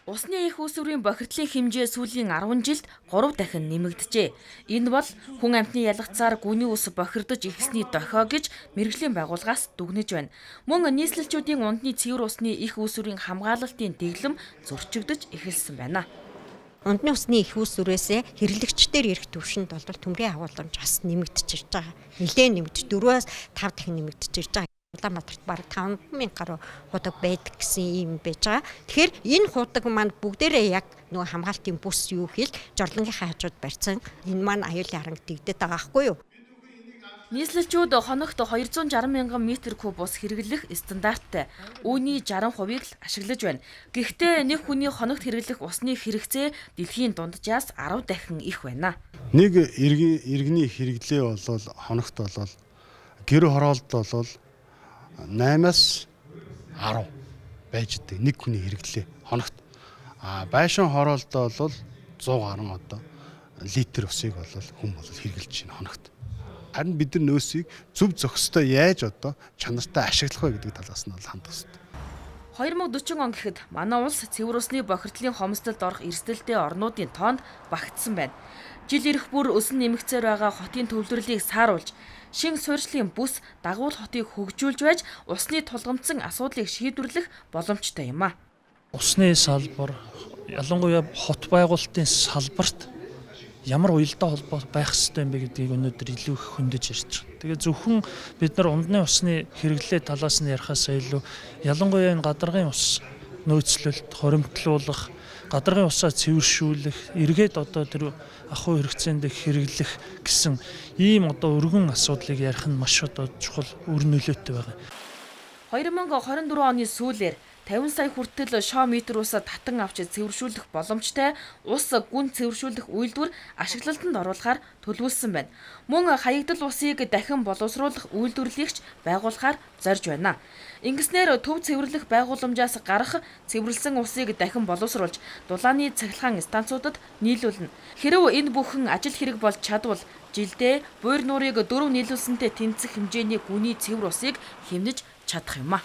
Усны их үүсвэрийн бохирдлын хэмжээ сүүлийн 10 жилд 3 дахин нэмэгджээ. Энэ бол хүн амьтны ялгацаар гүний ус бохирдож ихсний дохио гэж мэргэжлийн байгууллагаас дүгнэж байна. Мөн нийслэлчүүдийн ундны цэвэр усны их үүсвэрийн хамгаалалтын дэглэм зөрчигдөж эхэлсэн байна. Ундны усны их үүсвэрээс хэрэглэгчдээр ирэх түвшинд бол төмрийн агуулмж бас нэмэгдэж ирж байгаа. Нэлээд нэмэгдэж 4-5 дахин нэмэгдэж ирж байгаа. Улаанбаатарт бараг 5,000 гаруй худаг байдаг гэсэн юм байж байгаа. Тэгэхээр энэ худаг маань бүгдээрээ яг нөгөө хамгаалтын бүс юу хэл жорлонгийнхаа хажууд барьсан. Энэ маань аюулын харанг дэгдэт байгаа байхгүй юу? Нийслэлчүүд хоногт 260 мянган метр куб ус хэрэглэх стандарттай. Үүний 60%-ийг л ашиглаж байна. Гэхдээ нэг хүний хоногт хэрэглэх усны хэрэгцээ дэлхийн дунджаас 10 дахин их байна. Нэг иргэний хэрэглээ бол хоногт бол гэр хороолт бол 8-аас 10 байж дээ нэг хүний хэрэглээ хоногт. Байшин хороолтоо бол 100 гаруй одоо литр усыг бол хүн хэрэглэж байна хоногт. Харин бид нар нөөсийг зөв зохистой яаж одоо чанартай ашиглах вэ гэдэг талаас нь хандах хэрэгтэй. 2040 он гэхэд манай улс цэвэр усны бохирдлын хомсдолд орох эрсдэлтэй орнуудын тоонд багтсан байна. Жил ирэх бүр өсөн нэмэгцээр байгаа хотын төвлөрлийг сааруулж, шин суурьшлийн бүс дагуул хотыг хөгжүүлж байж усны тулгамдсан асуудлыг шийдвэрлэх боломжтой юм а. Усны салбар, ялангуяа хот байгуулалтын салбарт ямар уялдаа холбоо байх ёстой юм бэ гэдгийг өнөөдөр илүү их хөндөж ярьж байгаа. Тэгээ зөвхөн бид нар ундны усны хэрэглээ талаас нь ярихаас илүү ялангуяа энэ гадаргын ус нөөцлөлт, хоримтлуулах, гадаргын усаа цэвэршүүлэх, эргээд одоо тэр ахуй хэрэгцээнд хэрэглэх гэсэн ийм одоо өргөн асуудлыг ярих нь маш одоо чухал үр нөлөөтэй байна. 2024 оны сүүлээр 50 сая хүртэл шоо метр усаа татан авч цэвэршүүлэх боломжтой ус гүн цэвэршүүлэх үйлдвэр ашиглалтанд оруулахаар төлөвлөсөн байна. Мөн хаягдал усыг дахин боловсруулах үйлдвэрлэлийгч байгуулахаар зорж байна. Ингэснээр төв цэвэрлэх байгууламжаас гарах цэвэрлсэн усыг дахин боловсруулж дулааны цахилгаан станцуудад нийлүүлнэ. Хэрэв энэ бүхэн ажил хэрэг болж чадвал жилдээ буур нуурыг 4 нийлүүлсэнтэй тэнцэх хэмжээний гүний цэвэр усыг хэмнэж чадах юм а.